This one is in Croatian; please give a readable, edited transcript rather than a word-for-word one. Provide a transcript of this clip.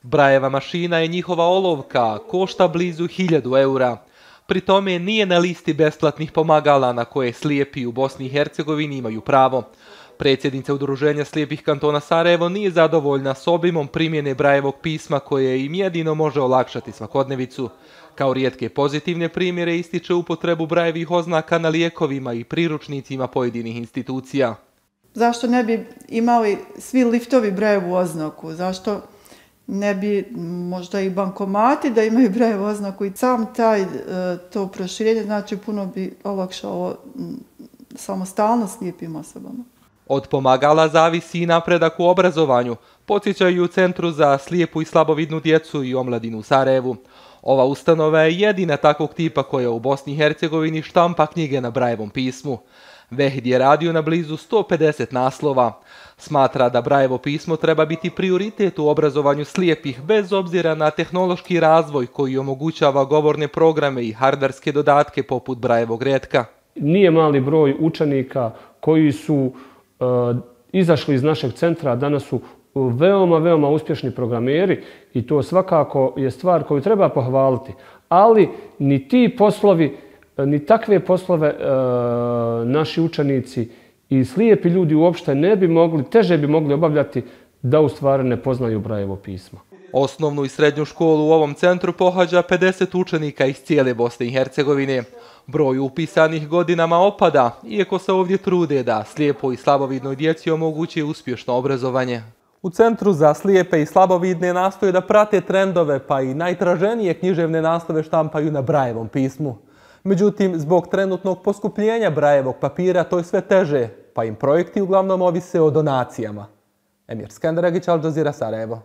Brajeva mašina je njihova olovka, košta blizu 1000 eura. Pri tome nije na listi besplatnih pomagala na koje slijepi u Bosni i Hercegovini imaju pravo. Predsjednica Udruženja slijepih kantona Sarajevo nije zadovoljna s obimom primjene Brajevog pisma koje im jedino može olakšati svakodnevicu. Kao rijetke pozitivne primjere ističe upotrebu Brajevih oznaka na lijekovima i priručnicima pojedinih institucija. Zašto ne bi imali svi liftovi Brajevu oznaku? Zašto ne bi možda i bankomati da imaju Brajevu oznaku? I sam to proširenje znači puno bi olakšalo samostalnost slijepim osobama. Od pomagala zavisi i napredak u obrazovanju, podsjećaju u Centru za slijepu i slabovidnu djecu i omladinu u Sarajevu. Ova ustanova je jedina takvog tipa koja u Bosni i Hercegovini štampa knjige na Brajevom pismu. Vehid je radio na blizu 150 naslova. Smatra da Brajevo pismo treba biti prioritet u obrazovanju slijepih bez obzira na tehnološki razvoj koji omogućava govorne programe i hardverske dodatke poput Brajevog retka. Nije mali broj učenika koji su izašli iz našeg centra, danas su veoma uspješni programeri i to svakako je stvar koju treba pohvaliti. Ali ni ti poslovi, ni takve poslove naši učenici i slijepi ljudi uopšte ne bi mogli, teže bi mogli obavljati da u stvari ne poznaju Brajevo pismo. Osnovnu i srednju školu u ovom centru pohađa 50 učenika iz cijele Bosne i Hercegovine. Broj upisanih godinama opada, iako se ovdje trude da slijepoj i slabovidnoj djeci omogući uspješno obrazovanje. U Centru za slijepe i slabovidne nastoje da prate trendove, pa i najtraženije književne naslove štampaju na Brajevom pismu. Međutim, zbog trenutnog poskupljenja Brajevog papira to je sve teže, pa im projekti uglavnom ovise o donacijama. Emir Skanderagić, Al Jazeera, Sarajevo.